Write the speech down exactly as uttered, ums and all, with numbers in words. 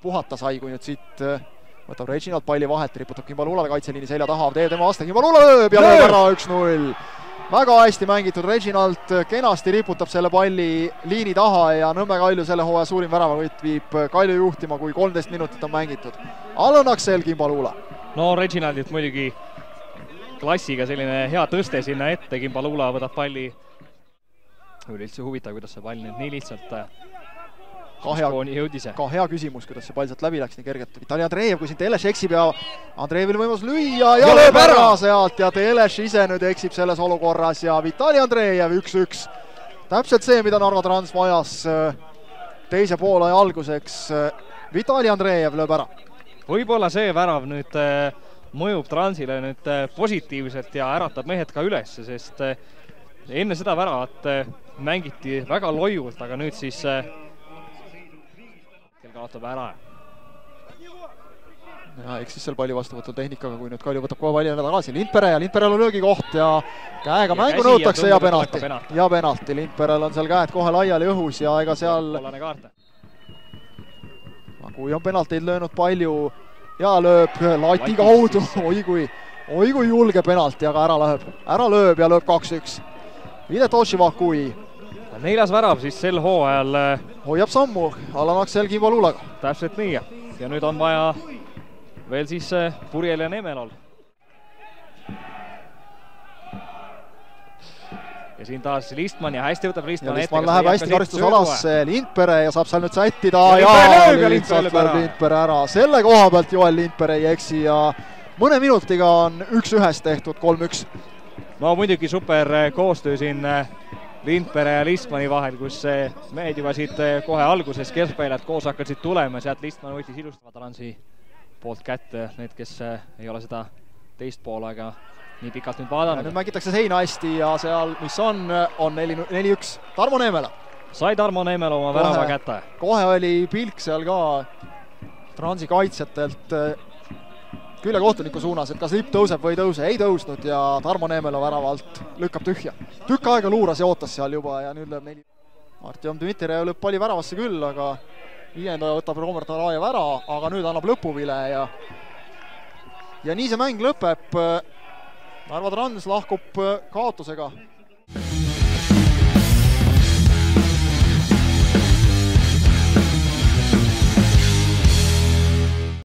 puhata sai, kui nüüd siit võtab Reginald palli vahelt, riputab Kimbalulale kaitseliini selja taha, teeb tema vastu, Kimbalula lööb ja lööb ära üks null. Väga hästi mängitud, Reginald kenasti riputab selle palli liini taha ja Nõmme Kalju selle hooaja suurim väravavõit viib Kalju juhtima, kui kolmteist minutit on mängitud. Allan Aksel, Kimbalula. No Reginaldilt muidugi klassiga selline hea tõste sinna ette, Kimbalula võtab palli. Oli üldse huvitav, kuidas see pall nüüd nii lihtsalt ka hea, jõudis. Ka hea küsimus, kuidas see pall sealt läbi läks nii kergelt. Vitali Andreev, kui siin Teleš eksib ja Andreevil võimalus lüüa ja, ja lööb ära sealt ja Teleš ise nüüd eksib selles olukorras ja Vitali Andreev üks üks. Täpselt see, mida Narva Trans vajas teise poolaja alguseks. Vitali Andreev lööb ära. Võib-olla see värav nüüd mõjub Transile nüüd positiivselt ja äratab mehed ka üles, sest enne seda väravat mängiti väga loiult, aga nüüd siis kaotab ära. Ja eks siis seal palli vastuvõtul tehnikaga, kui nüüd Kalju võtab kohe palli jälle tagasi. Lindpere ja Lindperel on löögikoht ja käega ja mängu nõutakse ja, ja penalti. Ja penalti. Lindperel on seal käed kohe laiali õhus ja ega seal... Kui on penalteid löönud palju ja lööb lati kaudu. Oi kui, oi kui julge penalti, aga ära lööb. Ära lööb ja lööb kaks üks. Videt Oshivakui. Neljas värav siis sel hooajal hoiab sammu Allan Aksel Kimbalulaga. Täpselt nii. Ja nüüd on vaja veel siis Purjel ja Nemelol. Ja siin taas Listman ja hästi võtab Listman ette. Listman läheb hästi karistusalasse Lindpere ja saab seal nüüd sättida. Ja, ja lihtsalt lööb Lindpere ära. Selle koha pealt Joel Lindpere ei eksi ja mõne minutiga on üks ühest tehtud kolm üks. No muidugi super koostöö siin Lindpere ja Listmani vahel, kus mehed juba siit kohe alguses keskväljad koos hakkasid tulema, sealt Listman võttis ilustava Transi poolt kätte, need, kes ei ole seda teist poolega nii pikalt nüüd vaadanud. Nüüd mängitakse seina hästi ja seal, mis on, on neli üks. Tarmo Neemela. Sai Tarmo Neemela oma värava kätte. Kohe oli pilk seal ka Transi kaitsjatelt küljekohtuniku suunas, et kas lipp tõuseb või ei tõuse. Ei tõusnud ja Tarmo Neemela väravalt lükkab tühja. Tükk aega luuras ja ootas seal juba ja nüüd lööb neli. Artjom Dmitrijev lööb palli väravasse küll, aga viienda võtab Robert Arajev ära, aga nüüd annab lõpuvile ja ja nii see mäng lõpeb. Narva Trans lahkub kaotusega.